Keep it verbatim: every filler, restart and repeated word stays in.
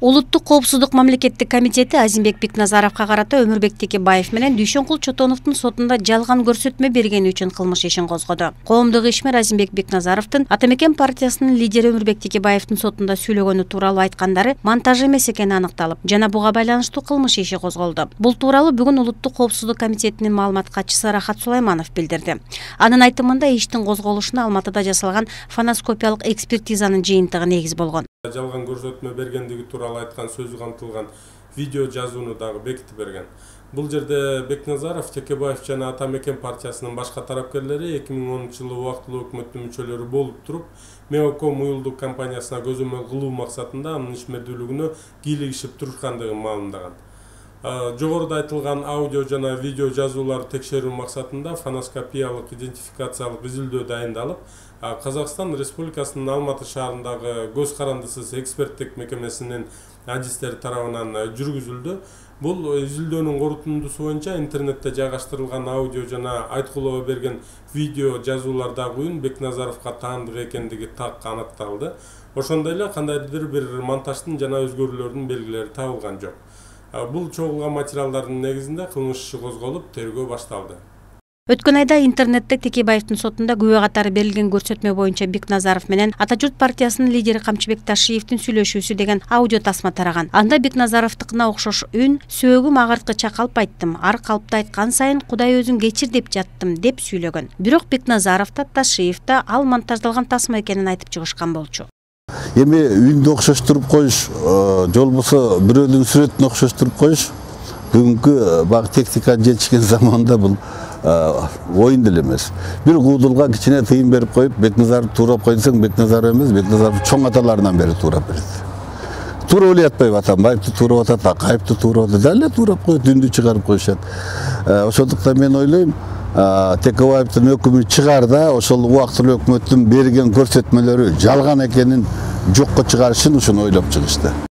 Улуттук коопсуздук мамлекеттик комитети Азимбек Бекназаровго карата Өмүрбек Текебаев менен Дүйшөнкул Чотоновдун сотунда жалган көрсөтмө бергени үчүн кылмыш ишин козгоду. Коомдук ишмер Азимбек Бекназаровдун Ата Мекен партиясынын лидери Өмүрбек Текебаевдин сотунда сүйлөгөнү тууралуу айткандары монтаж эмес экени аныкталып, жана буга байланыштуу кылмыш иши козголду. Бул тууралуу бүгүн Улуттук коопсуздук комитетинин маалымат катчысы Рахат Сулайманов билдирди. Анын айтымында иштин козголушуна Алматыда жасалган фоноскопиялык экспертизанын жыйынтыгы негиз болгон. Жалган көрсөтмө бергендиги тууралуу айткан сөзү камтылган видео жазууну дагы бекитип берген. Бул жерде Бекназаров, Текебаев жана Ата Мекен партиясынын башка тарапкерлери эки миң онунчу жылы убактылуу өкмөттүн мүчөлөрү болуп туруп, Меоком уюлдук компаниясына көзөмөл кылуу максатында анын ишмердүүлүгүнө кийлигишип турушкандыгын маалымдаган. Жогоруда айтылган аудио жана видео жазууларды текшерүү максатында фоноскопиялык идентификациялык изилдөө дайындалып, Казакстан Республикасынын Алматы шаарындагы көз карандысыз эксперттик мекемесинин адистери тарабынан жүргүзүлдү. Бул изилдөөнүн корутундусу боюнча интернетте жайгаштырылган аудио жана айткулоо берген видео жазуулардагы үн Бекназаровго таандык экендиги так аныкталды. Ошондой эле кандайдыр бир монтаждын жана өзгөрүүлөрдүн белгилери табылган жок. Бул чогулган материалдардын негизинде кылмыш иши козголуп, тергөө башталды. Өткөн айда интернетте Текебаевдин сотунда күбө катары берилген көрсөтмө боюнча Бекназаров менен Ата журт партиясынын лидери Камчыбек Ташиевдин сүйлөшүүсү деген аудио тасма тараган. Анда Бекназаровдукуна окшош үн: сөөгүм агырткы чакалып айттым, ар калпта айткан сайын Кудай өзүң кечир деп жаттым деп сүйлөгөн. Бирок Бекназаров да Ташиев да ал монтаждалган тасма экенин айтып чыгышкан болчу. Эми үндү окшоштуруп коюш, же болбосо бирөөнүн сүрөтүн окшоштуруп коюш бүгүнкү баг техниканын жетишкен заманында бул оюн деле эмес. Бир куудулга кичине тыйын берип коюп, Бекназаров туурап кой десең, Бекназаров эмес, Бекназаров чоң аталарынан бери туурап берет. Туурап эле атпайбы, Атамбаевди туурап атат, Акаевди туурап атат, дал эле туурап коет, үндү чыгарып коюшат. Ошондуктан мен ойлойм, Текебаевдин өкүмү чыгарда ошол убактылуу өкмөттүн берген көрсөтмөлөрү жалган экенин жокко чыгарышын ушуну ойлоп чыгышты.